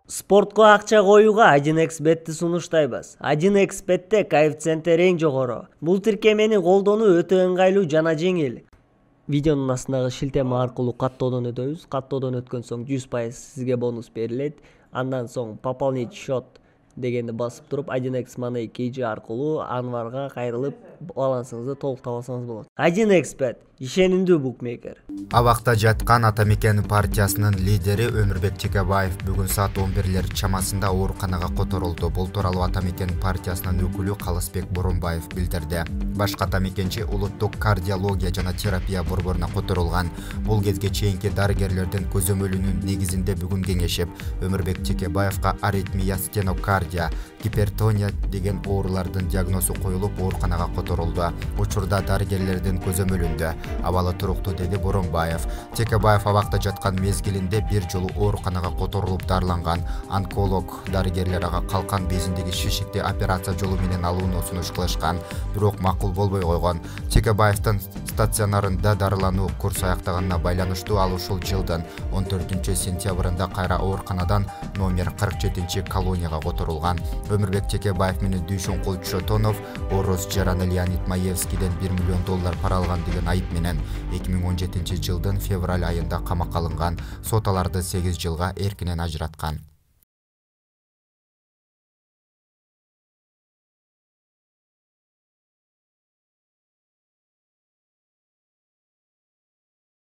Спортко акча коюуга 1xbetти сунуштайбыз. 1xbetте коэффициенти эң жогору. Бул тиркемени колдонуу өтө ыңгайлуу жана жеңил. Видеонун астындагы шилтеме аркылуу каттоодон өтөбүз. Каттоодон өткөн соң 100% сизге бонус берилет. Андан соң пополнить счет дегенди басып туруп 1x Money KG аркылуу Анварга кайрылып балансыңызды толуктап алсаңыз болот. 1xbet ишенимдүү букмекер. Абакта жаткан Ата Мекен партиясынын лидери Өмүрбек Текебаев бүгүн саат 11 чамасында ооруканага которулду. Бул тууралуу Ата Мекен партиясынын өкүлү Калысбек Боронбаев билдирди. Башкы Ата Мекенчи улуттук кардиология жана терапия борборуна которулган. Бул кезге чейинки дарыгерлердин көзөмөлүнүн негизинде бүгүн кеңешип, Өмүрбек Текебаевга аритмия, стенокардия, гипертония деген оорулардын диагнозу коюлуп ооруканага которулду. Учурда дарыгерлердин көзөмөлүндө, абалы туруктуу, деди Боронбаев. Текебаев абакта жаткан мезгилинде бир жолу ооруканага которулуп дарыланган. Онколог дарыгерлер ага калкан безиндеги шишикти операция жолу менен алууну сунуш кылышкан, бирок макул болбой койгон. Текебаевдин стационарында дарылануу курс аяктаганына байланыштуу ал ушул жылдын 14 сентябрында кайра ооруканадан номер 47 колонияга которулган. Өмүрбек Текебаев менен Дүйшөнкул Чотонов Орус жараны Леонид Маевскийден $1 миллион пара алган деген айып менен 2017 жылдын февраль айында камакка алынган. Сот аларды 8 жылга эркинен ажыраткан.